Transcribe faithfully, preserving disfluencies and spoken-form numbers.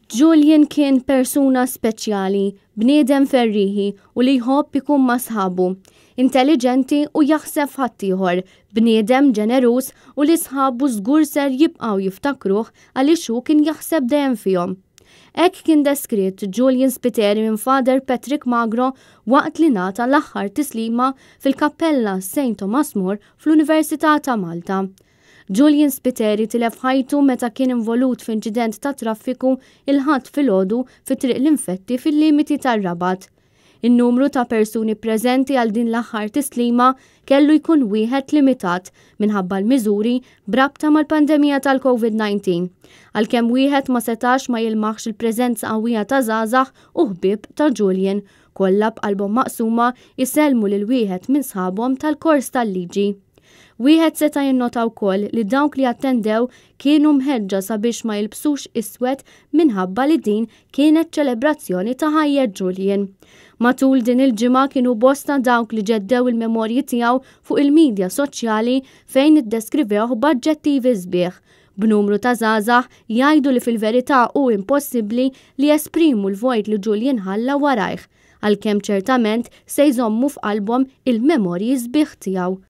Julian kien persuna speċjali, bniedem ferriħi u li jħobb ikun ma' sħabu. Intelliġenti u jaħseb f'ħaddieħor, bniedem ġeneruż u li sħabu żgur ser jibqgħu jiftakruh għaliex hu kien jaħseb dejjem fihom. Hekk kien deskritt Julian Spiteri minn Father Patrick Magro waqt li ngħata l-aħħar tislima fil-Kappella Saint Thomas More fl-Università ta' Malta. Julian Spiteri tilef ħajtu meta kien involut f'inċident ta' traffiku il-Ħadd filgħodu fi Triq l-Infetti fil-limiti tar-Rabat. In-numru ta' persuni preżenti għal din l-aħħar tislima kellu jkun wieħed limitat minħabba l-miżuri b'rabta mal-pandemija tal-Covid disa. Għalkemm wieħed ma setax ma jilmaħx il-preżenza qawwija ta' żgħażagħ u ħbieb ta' Julian, kollha b'qalbhom maqsuma jsellmu lil wieħed minn sħabhom tal-kors tal-liġi. Wieħed seta' jinnota wkoll li dawk li attendew kienu mħeġġa sabiex ma jilbsux iswed minħabba li din kienet ċelebrazzjoni ta' ħajja Julian. Matul din il-ġimgħa kienu bosta dawk li ġeddew il-memorji tiegħu fuq il-medja soċjali fejn iddeskrivewh b'aġġettivi sbieħ, b'numru ta' żgħażagħ jgħidu li fil-verità hu impossibbli li jesprimu l-vojt li Julian ħalla warajh, għalkemm ċertament se jżommu f'qalbhom il-memorji sbieħ tiegħu.